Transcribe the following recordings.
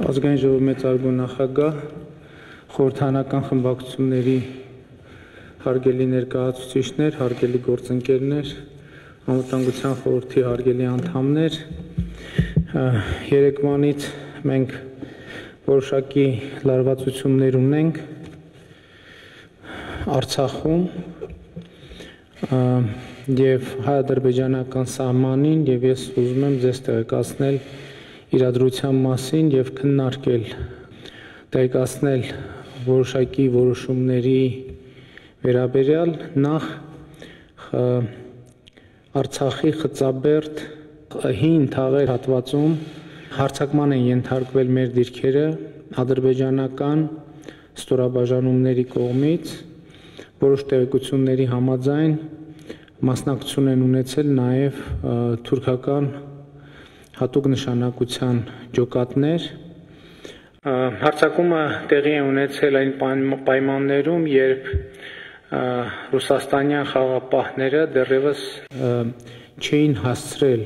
Ազգային ժողովի մեծարգո նախագահ, խորհրդարանական խմբակցությունների հարգելի ներկայացուցիչներ, հարգելի գործընկերներ, անվտանգության խորհրդի հարգելի անդամներ, երեկվանից մենք որոշակի լարվածություններ ունենք Արցախում եւ հայ-ադրբեջանական սահմանին եւ ես ուզում եմ ձեզ տեղեկացնել իրադրության մասին եւ քննարկել տեղեկացնել որոշակի որոշումների վերաբերյալ նախ Արցախի Խծաբերդ հին թաղեր հատվածում հարձակման են ենթարկվել մեր դիրքերը ադրբեջանական ստորաբաժանումների կողմից որոշ տեղեկությունների համաձայն մասնակցություն են ունեցել նաև թուրքական հատուկ նշանակության ջոկատներ հարձակումը տեղի է ունեցել այն պայմաններում երբ ռուսաստանյան խաղապահները դեռևս չէին հասցրել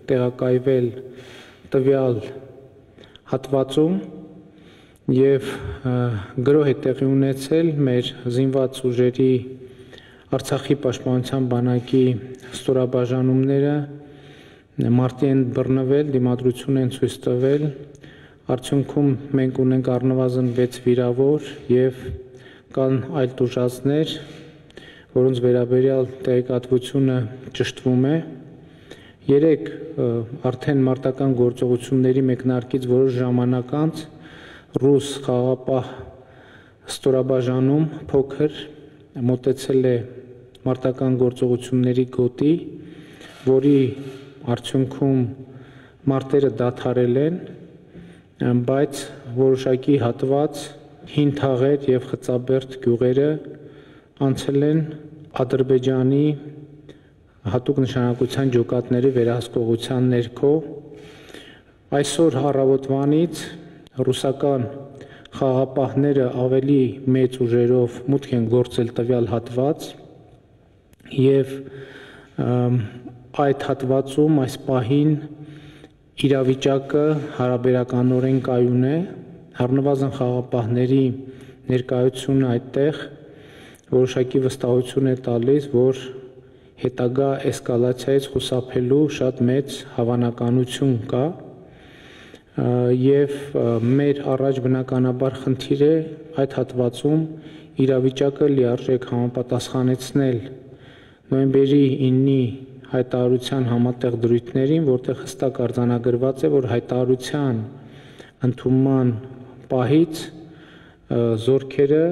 տեղակայվել տվյալ հատվածում եւ գրոհ է տեղի ունեցել մեր զինված ուժերի Արցախի պաշտպանության բանակի ստորաբաժանումները մարտի են բռնվել, դիմադրություն են ցույց տվել, արդյունքում մենք ունենք առնվազն 6 վիրավոր եւ կան այլ տուժածներ, որոնց վերաբերյալ տեղեկատվությունը ճշտվում է։ 3 արդեն մարտական գործողությունների մեկնարկից որոշ ժամանակ անց ռուս խաղապահ ստորաբաժանում փոքր մոտեցել է մարտական գործողությունների գոտի, որի արդյունքում մարտերը դադարել են, բայց որոշակի հատված հին թաղեր եւ Խծաբերդ գյուղերը անցել են Ադրբեջանի հատուկ նշանակության ջոկատների վերահսկողության ներքո այսօր առավոտվանից ռուսական խաղապահները ավելի մեծ ուժերով մուտք են գործել տվյալ հատված եւ այդ հատվածում այս պահին իրավիճակը հարաբերականորեն կայուն է առնվազն խաղապահների ներկայությունը այդտեղ որոշակի վստահություն է տալիս որ հետագա էսկալացիայից խուսափելու շատ մեծ հավանականություն կա եւ մեր առաջ բնականաբար խնդիր է այդ հատվածում իրավիճակը լիարժեք համապատասխանեցնել նոյեմբերի 9-ի հայտարարության համատեղ դրույթներին, որտեղ հստակ արձանագրված է, որ հայտարարության ընդունման պահից զորքերը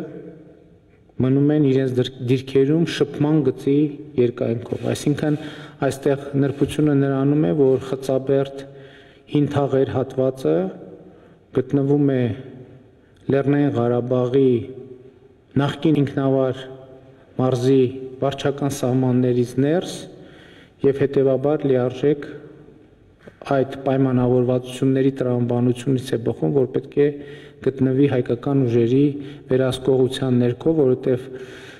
մնում են իրենց դիրքերում շփման գծի երկայնքով, այսինքն այստեղ նրբությունը նրանում է, որ Խծաբերդ հին թաղեր հատվածը գտնվում է Լեռնային Ղարաբաղի նախկին ինքնավար մարզի վարչական սահմաններից ներս եւ հետեւաբար լիարժեք այդ պայմանավորվածությունների տրամաբանությունից է բխում, որ պետք է գտնվի հայկական ուժերի վերահսկողության ներքո, որովհետեւ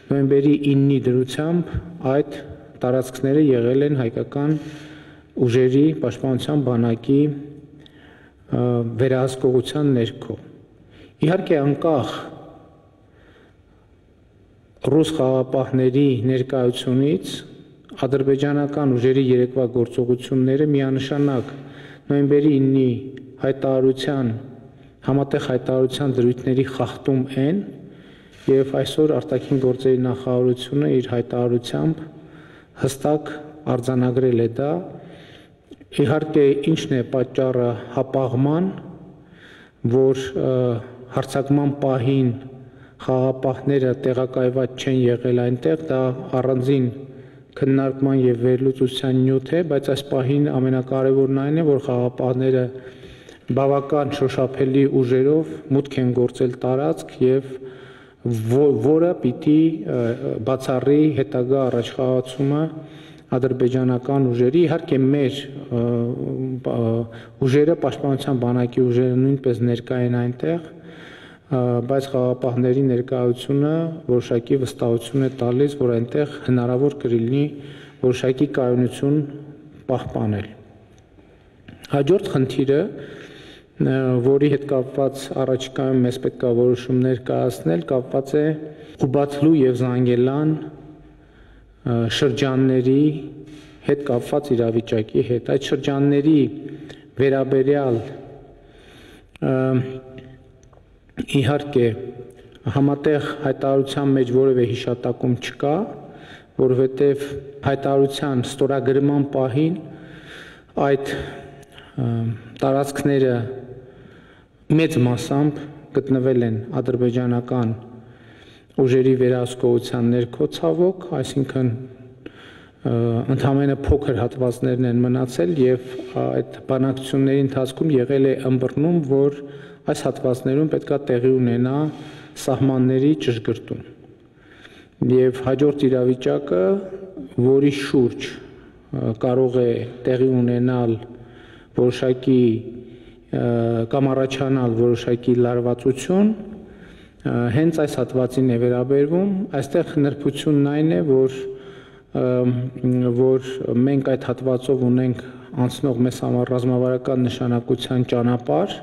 նոյեմբերի 9-ի դրությամբ այդ տարածքները եղել են հայկական ուժերի պաշտպանության բանակի վերահսկողության ներքո։ Իհարկե անկախ ռուս խաղապահների ներկայությունից ադրբեջանական ուժերի երեկվա գործողությունները միանշանակ նոյեմբերի 9-ի հայտարարության համատեղ հայտարարության դրույթների խախտում են եւ այսօր արտաքին գործերի նախարարությունը իր հայտարարությամբ հստակ արձանագրել է դա իհարկե ինչն է պատճառը հապաղման որ հարձակման պահին խաղապահները տեղակայված չեն եղել այնտեղ դա առանձին քննարկման եւ վերլուծության նյութ է, բայց այս պահին ամենակարևորն այն է, որ խաղապահները բավական շոշափելի ուժերով մուտք են գործել տարածք եւ որը պիտի բացառի հետագա առաջխաղացումը ադրբեջանական ուժերի, իհարկե մեր ուժերը պաշտպանության բանակի ուժերը նույնպես ներկա են այնտեղ բայց խաղապահների ներկայությունը որոշակի վստահություն է տալիս, որ այնտեղ հնարավոր կլինի որոշակի կայունություն պահպանել։ Հաջորդ խնդիրը որի հետ կապված առաջիկայում մեզ պետք է որոշումներ կայացնել, կապված է Ղուբաթլու եւ Զանգելան շրջանների հետ կապված իրավիճակի հետ։ Այդ շրջանների վերաբերյալ իհարկե համատեղ հայտարարության մեջ որևէ հիշատակում չկա, որովհետև հայտարարության ստորագրման պահին այդ տարածքները մեծ մասամբ գտնվել են ադրբեջանական ուժերի վերահսկողության ներքո ցավոք, այսինքն ընդամենը փոքր հատվածներն են մնացել եւ այդ բանակցությունների ընթացքում եղել է ըմբռնում, որ այս հատվածներում պետքա տեղի ունենա սահմանների ճշգրտում։ Եվ հաջորդ իրավիճակը, որի շուրջ կարող է տեղի ունենալ որոշակի կամ առաջանալ որոշակի լարվածություն, հենց այս հատվածին է վերաբերվում, այստեղ նրբությունն այն է, որ մենք այդ հատվածով ունենք անցնող մեզ համար ռազմավարական նշանակության ճանապարհ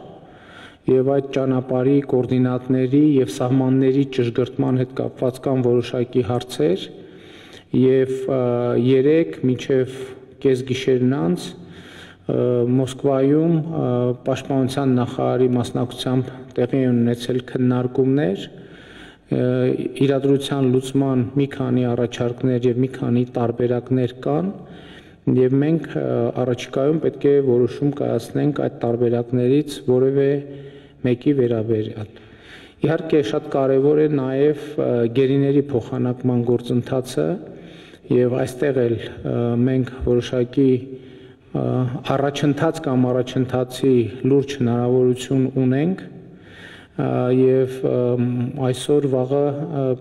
եւ այդ ճանապարհի կոորդինատների եւ սահմանների ճշգրտման հետ կապված կան որոշակի հարցեր եւ երեք մինչեւ կեսգիշերն անց Մոսկվայում պաշտպանության նախարարի մասնակցությամբ տեղի են ունեցել քննարկումներ իրադրության լուծման մի քանի առաջարկներ եւ մի քանի տարբերակներ կան եւ մենք առաջիկայում պետք է որոշում կայացնենք այդ տարբերակներից որևէ մեկի վերաբերյալ։ Իհարկե շատ կարևոր է նաեւ գերիների փոխանակման գործընթացը եւ այստեղ էլ մենք որոշակի առաջընթաց կամ առաջընթացի լուրջ հնարավորություն ունենք եւ այսօր վաղը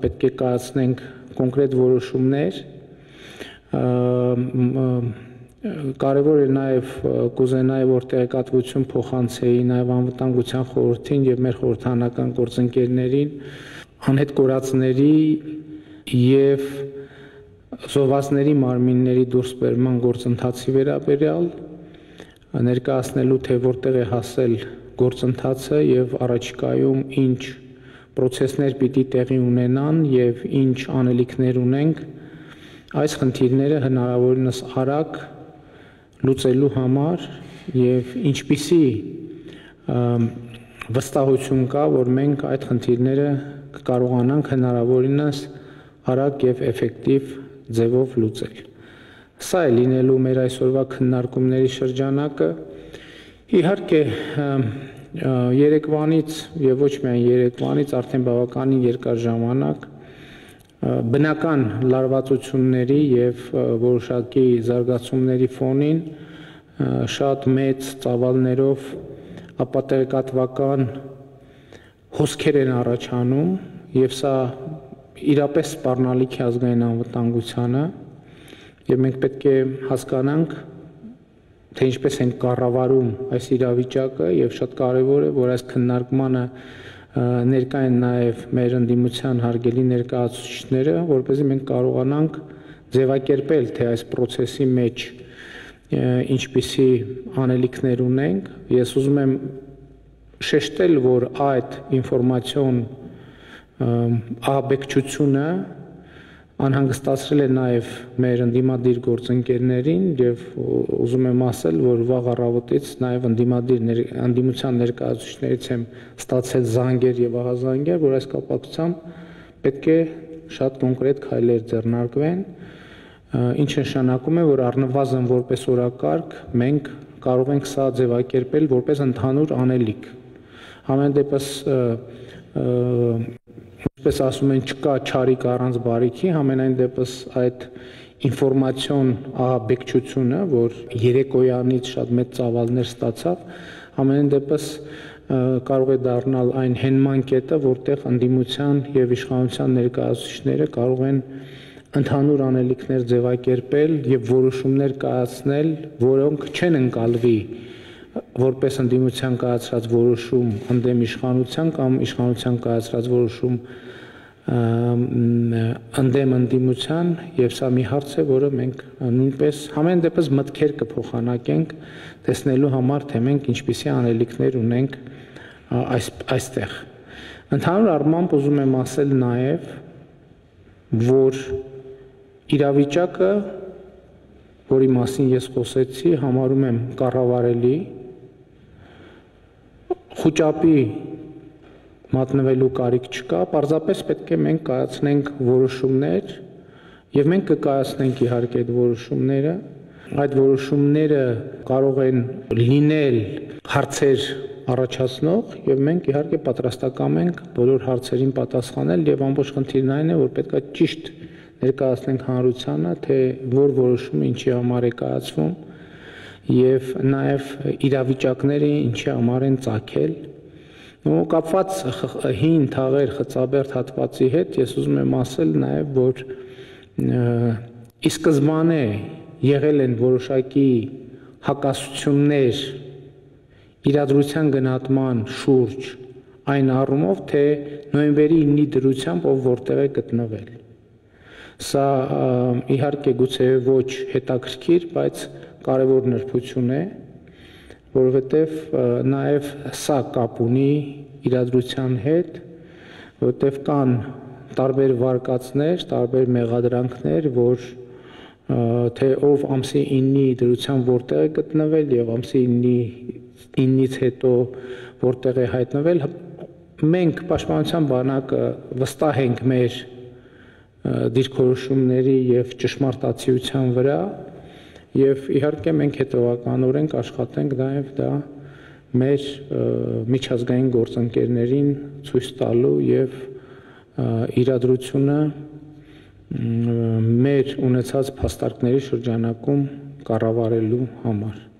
պետք է կայացնենք կոնկրետ որոշումներ կարևոր է նաեւ կուզենայի որ տեղեկատվություն փոխանցեի նաեւ անվտանգության խորհրդին եւ մեր խորհրդանական գործընկերներին անհետ կորածների եւ զոհվածների մարմինների դուրսբերման գործընթացի վերաբերյալ ներկայացնելու թե որտեղ է հասել գործընթացը եւ առաջիկայում ինչ procesներ պիտի տեղի ունենան եւ ինչ անելիքներ ունենք այս խնդիրները հնարավորինս արագ լուծելու համար եւ ինչպիսի վստահություն կա որ մենք այդ խնդիրները կկարողանանք հնարավորինս արագ եւ էֆեկտիվ ձևով լուծել։ Սա է լինելու մեր այսօրվա քննարկումների շրջանակը։ Իհարկե երեկվանից եւ ոչ միայն երեկվանից արդեն բավականին երկար ժամանակ բնական լարվածությունների եւ որոշակի զարգացումների ֆոնին շատ մեծ ծավալներով ապատեղեկատվական հոսքեր են առաջանում եւ սա իրապես սպառնալիք է ազգային անվտանգությանը եւ մենք պետք է հասկանանք թե ինչպես են կառավարում այս իրավիճակը եւ շատ կարեւոր է որ այս քննարկմանը ներկա են նաեւ մեր ընդդիմության հարգելի ներկայացուցիչները որպեսզի մենք կարողանանք ձևակերպել թե այս process-ի մեջ ինչպիսի անելիքներ ունենք ես ուզում եմ շեշտել որ այդ ինֆորմացիոն ահաբեկչությունը անհանգստացրել է նաև մեր ընդդիմադիր գործընկերներին եւ ուզում եմ ասել, որ վաղ առավոտից նաև ընդդիմության ներկայացուցիչներից եմ ստացել զանգեր եւ ահազանգեր, որ այս կապակցությամբ պետք է շատ կոնկրետ քայլեր ձեռնարկվեն, ինչը նշանակում է, որ առնվազն որպես օրակարգ մենք կարող ենք սա ձևակերպել որպես ընդհանուր անելիք։ Ամեն դեպս Ինչպես ասում են, չկա չարիք առանց բարիքի, համենայն դեպս այդ ինֆորմացիոն ահաբեկչությունը, որ երեկոյանից շատ մեծ ծավալներ ստացավ, ամենայն դեպս կարող է դառնալ այն հենման կետը, որտեղ ընդդիմության եւ իշխանության ներկայացուցիչները կարող են ընդհանուր անելիքներ ձևակերպել եւ որոշումներ կայացնել, որոնք չեն ընկալվի որպես ընդդիմության կայացրած որոշում ընդդեմ իշխանության կամ իշխանության կայացրած որոշում ընդդեմ ընդդիմության եւ սա մի հարց է, որը մենք նույնպես համեն դեպս մտքեր կփոխանակենք տեսնելու համար, թե մենք ինչպիսի անելիքներ ունենք այստեղ։ Ընդհանուր առմամբ ուզում եմ ասել նաեւ, որ իրավիճակը, որի մասին ես խոսեցի, համարում եմ կառավարելի, խոճապի մատնվելու կարիք չկա, պարզապես պետք է մենք կայացնենք որոշումներ եւ մենք կկայացնենք իհարկե այդ որոշումները, այդ որոշումները կարող են լինել հարցեր առաջացնող եւ մենք իհարկե պատրաստական ենք բոլոր հարցերին պատասխանել եւ ամբողջ խնդիրն այն է, որ պետք է ճիշտ ներկայացնենք հանրությանը, թե որ որոշումը ինչի համար է կայացվում եւ նաեւ իրավիճակները ինչի համար են ծագել։ Կապված հին թաղեր խծաբերդ հատվածի հետ ես ուզում եմ ասել նաև, որ ի սկզբանե եղել են որոշակի հակասություններ իրադրության գնահատման շուրջ այն առումով, թե նոյեմբերի 9-ի դրությամբ ով որտեղ է գտնվել։ Սա իհարկե գուցե ոչ հետաքրքիր, բայց կարևոր նրբություն է, որովհետև նաև սա կապ ունի իրադրության հետ, որովհետև կան տարբեր վարկածներ, տարբեր մեղադրանքներ, որ թե ով ամսի 9-ի դրությամբ որտեղ է գտնվել եւ ամսի 9-ից հետո որտեղ է հայտնվել, մենք Պաշտպանության բանակը վստահ ենք մեր դիրքորոշումների եւ ճշմարտացիության վրա եւ իհարկե մենք հետևականորեն կաշխատենք նաեւ դա մեր միջազգային գործընկերներին ցույց տալու եւ իրադրությունը մեր ունեցած փաստարկների շրջանակում կառավարելու համար։